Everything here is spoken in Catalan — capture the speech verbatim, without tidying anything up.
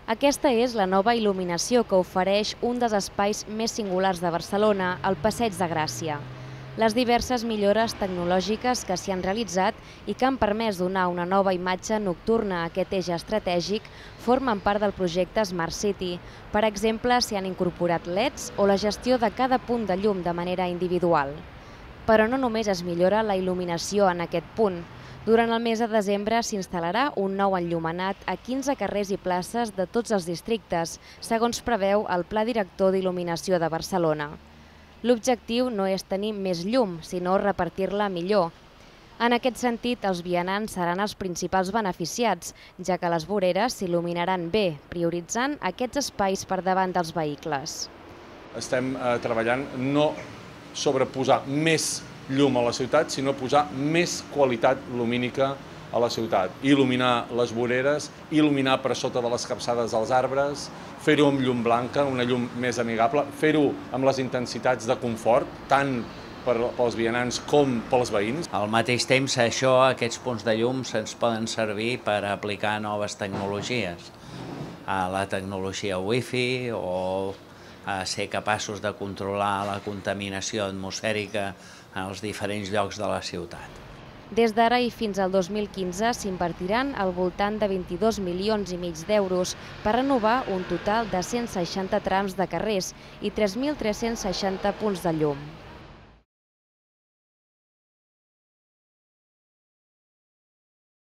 Aquesta és la nova il·luminació que ofereix un dels espais més singulars de Barcelona, el Passeig de Gràcia. Les diverses millores tecnològiques que s'hi han realitzat i que han permès donar una nova imatge nocturna a aquest eix estratègic formen part del projecte Smart City. Per exemple, s'hi han incorporat L E Ds o la gestió de cada punt de llum de manera individual. Però no només es millora la il·luminació en aquest punt. Durant el mes de desembre s'instal·larà un nou enllumenat a quinze carrers i places de tots els districtes, segons preveu el Pla Director d'Il·luminació de Barcelona. L'objectiu no és tenir més llum, sinó repartir-la millor. En aquest sentit, els vianants seran els principals beneficiats, ja que les voreres s'il·luminaran bé, prioritzant aquests espais per davant dels vehicles. Estem eh, treballant no sobre posar més llum a la ciutat, sinó posar més qualitat lumínica a la ciutat. Il·luminar les voreres, il·luminar per sota de les capçades dels arbres, fer-ho amb llum blanca, una llum més amigable, fer-ho amb les intensitats de confort, tant pels vianants com pels veïns. Al mateix temps, això, aquests punts de llum se'ns poden servir per aplicar noves tecnologies. La tecnologia Wi-Fi o ser capaços de controlar la contaminació atmosfèrica en els diferents llocs de la ciutat. Des d'ara i fins al dos mil quinze s'invertiran al voltant de vint-i-dos milions i mig d'euros per renovar un total de cent seixanta trams de carrers i tres mil tres-cents seixanta punts de llum.